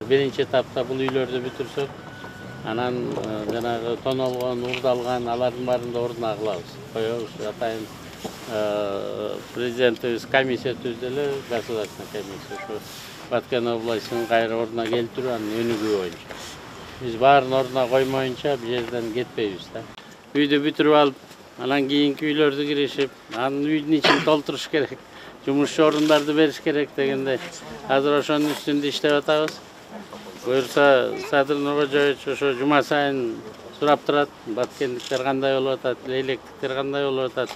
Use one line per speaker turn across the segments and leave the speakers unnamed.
Биринчи этапта бул үйлөрдү бүтүрсөк, анан жанагы тоналгон, урдалган алардын баарын да ордуна кылабыз. Коебуз атайын президентибиз комиссия түздү эле, государственный комиссия. Ошо Баткен областынын кайра ордуна келтирүү, анын өнүгүү боюнча. Биз баарын ордуна коймоюнча бул жерден кетпейбиз да. Үйдү бүтүрүп алып, анан кийинки үйлөрдү киришип, анын үйдүн ичин толтуруш керек. Жумушчу орундарды бериш керек дегенде, азыр ошонун үстүндө иштеп атабыз. Буюрса Садыр Нуркожоевич ошо жума сайын сурап турат, баткендиктер кандай болуп атат, лейлектиктер кандай болуп атат,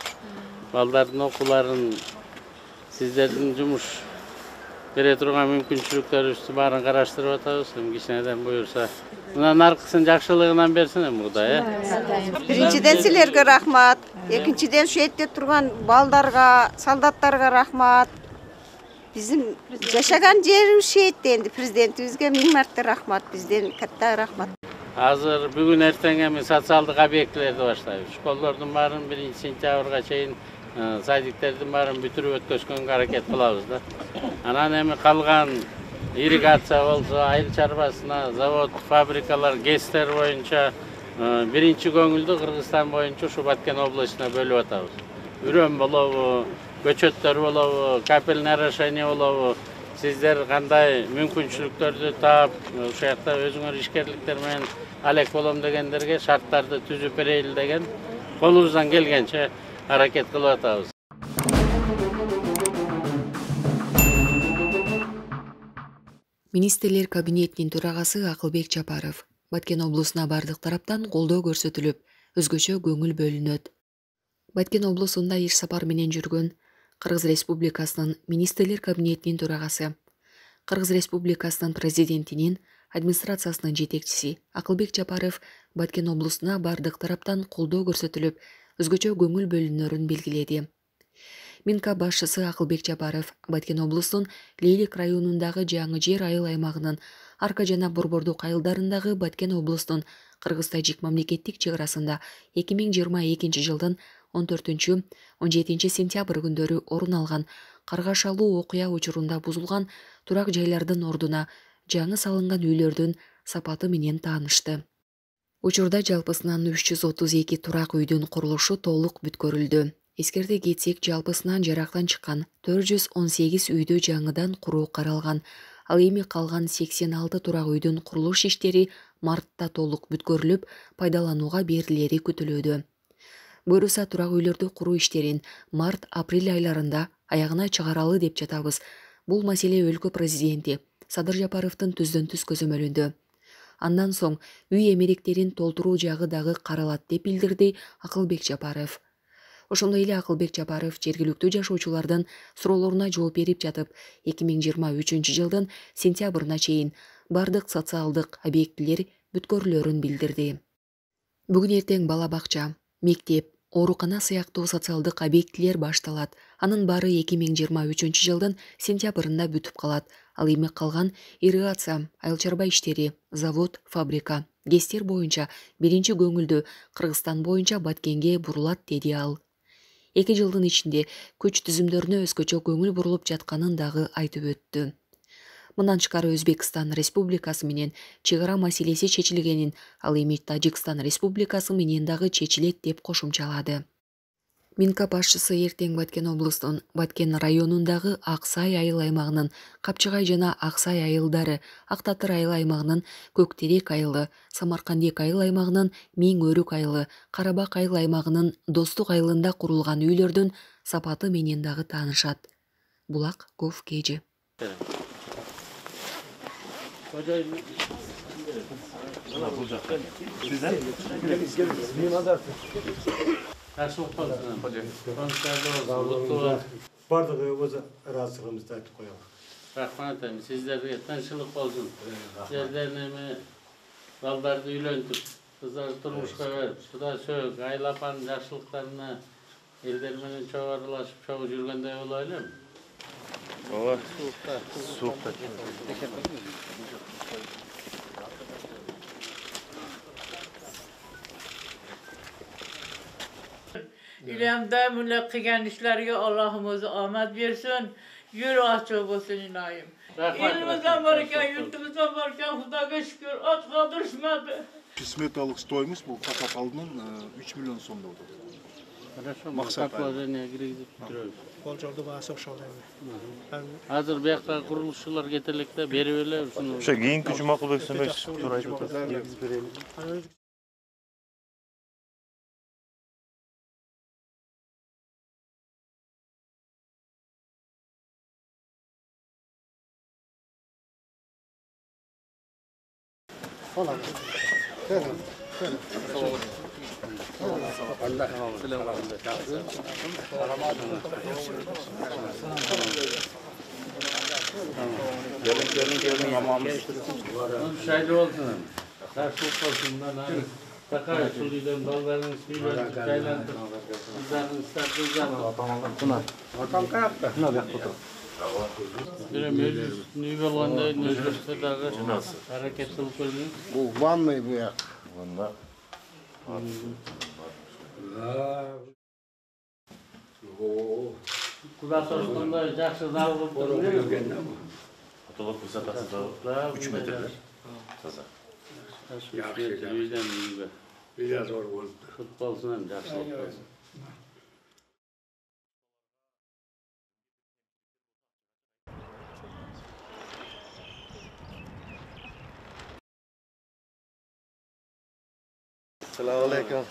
балдардын окууларын, сиздердин жумуш бере турган мүмкүнчүлүктөрүбүздү баарын караштырып атабыз. Кичинеден буюрса, мындан аркысын жакшылыгынан берсин эми Кудай,
Биринчиден силерге рахмат, экинчиден ушу этте турган балдарга, солдаттарга рахмат. Биздин жашаган жерибиз шейтте, энди президентибизге 1000 марта рахмат, бизден катта рахмат.
Азыр бүгүн эртең эми социалдык объектилерди баштайбыз. Школдордун баарын 1-сентябрга чейин садиктердин баарын бүтүрүп өткөзгөнгө аракет кылабыз да. Анан эми калган ирригация болсо, айыл чарбасына, завод, фабрикалар, ГЭСтер боюнча биринчи көңүлдү Кыргызстан боюнча ушу Баткен областына бөлүп атабыз. Үрөм болобу, көчөттөр болобу, капельное орошение болобу, сиздер кандай мүмкүнчүлүктөрдү таап, ушул жакта өзүңөр ишкерликтер менен алек болом дегендерге шарттарды түзүп берели деген колубуздан келгенче аракет кылып атабыз.
Министрлер кабинетинин төрагасы Акылбек Жапаров Баткен облусуна бардык тараптан колдоо көрсөтүлүп, өзгөчө көңүл бөлүнөт. Баткен облусунда иш сапар менен жүргөн Кыргыз Республикасынын Министрлер кабинетинин төрагасы, Кыргыз Республикасынын президентинин администрациясынын жетекчиси Акылбек Жапаров Баткен облусуна бардык тараптан колдоо көрсөтүлүп, өзгөчө көңүл бөлүнөрүн белгиледи. Минка башчысы Акылбек Жапаров Баткен облусунун Лейлик районундагы жаңы жер айыл аймагынын Арка жана Борбордук айылдарындагы Баткен облусунун Кыргыз-Тажик мамлекеттик чек арасында 2022 жылдын 14-17 сентябрь күндөрү орун алган каргашалуу окуя учурунда бузулган турак жайлардын ордуна жаңы салынган үйлөрдүн сапаты менен таанышты. Учурда жалпысынан 332 турак үйдүн курулушу толук бүткөрүлдү. Эскерте кетсек, жалпысынан жарактан чыккан 418 үйдү жаңыдан куруу каралган. Ал эми калган 86 турак үйдүн курулуш иштери мартта толук бүткөрүлүп, пайдаланууга берилери күтүлүүдө. Буюрса турак үйлөрдү куруу иштерин март-апрель айларында аягына чыгаралы деп жатабыз. Бул маселе өлкө президенти Садыр Жапаровдун түздөн-түз көзөмөлүндө. Андан соң үй эмеректерин толтуруу жагы дагы каралат деп билдирди Акылбек Жапаров. Ошондой эле Акылбек Жапаров жергиликтүү жашоочулардын суроолоруна жооп берип жатып, 2023 жылдын сентябрына чейин бардык социалдык объектилер бүткөрүлөрүн билдирди. Бүгүн эртең бала бакча, мектеп, оорукана сыяктуу социалдык объектилер башталат. Анын баары 2023 жылдын сентябрында бүтүп калат. Ал эми калган ирригация, айыл чарба иштери, завод, фабрика, ГЭСтер боюнча биринчи көңүлдү Кыргызстан боюнча Баткенге бурулат, деди ал. 2 жылдын ичинде күч түзүмдөрүнө өзгөчө көңүл бурулуп жатканын дагы айтып өттү. Мындан тышкары Өзбекстан Республикасы менен чек ара маселеси чечилгенин, ал эми Тажикстан Республикасы менен дагы чечилет деп кошумчалады. Минка башчысы эртең Баткен облусунун Баткен районундагы Аксай айыл аймагынын Капчыгай жана Аксай айылдары, Ак Татыр айыл аймагынын Көктерек айылы, Самаркандек айыл аймагынын Миң Өрүк айылы, Карабак айыл аймагынын Достук айылында курулган үйлөрдүн сапаты менен дагы таанышат. Булак Гов Кежи.
Жакшылык болсун.
Бардыгы өз ыраазычылыгыбызды айтып коелу.
Рахмат эми сиздерге тынччылык болсун. Сиздердин эми балдарды үйлөнтүп, кыздарды турмушка берип, Кудай сөөк, айыл апанын жакшылыктарына элдер менен чогуу аралашып, чогуу жүргөндөй боло элем. Ооба. Суукта.
İlemde mülek kıyan işlerge Allah'ım özü ahmet versin. Yürü açık olsun inayım. Elimizden varken, yurtumuzdan varken Xudoga şükür aç kaldırışmadı.
Сметалық стоимость бұл қатап алдынан 3 миллион сомда отыр.
Хорошо,
Мақсат
положение киргизип бүтүрөбүз.
Ол жолду баасы окшол эми.
Азыр бияка курулушчулар кетелек да берип эле ушуну.
Ошо кийинки Жумакулбек Сөмөш туура айтып атат. Негиз берели.
Şaylı olsun. Karşılık olsun. Takar suluydan ballarını suyla çaylandır. Kızlarını ıslar kızlarını. Buna. Atam kayakta. Ne bek tutu. Meclis nüve olanda mecliste dağı hareket kılıp ölmüyor.
Bu vanный bu ya.
Ванда.
Kulağı sorusunda жақсы зал болып тұр.
Потолок высотасы да 3 метрлер. Таза.
Үйден үйге.
Үйден зор болды.
Футболсынан жақсылық болсын.
Assalamualaikum.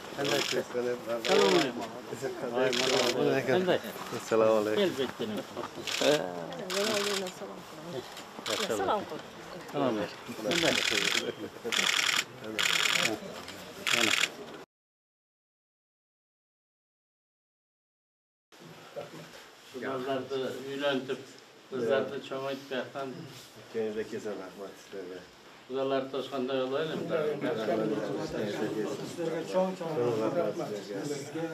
Qanday?
Assalamualaikum.
Elbette. Salom. Salom. Kızlardı üylentip, kızlardı çoğayıp yatan.
Kendinize kesin rahmat sizlerle.
Kızlar toşkanda yol öyle mi?
Sizlerge çoğun rahmat. Sizlerge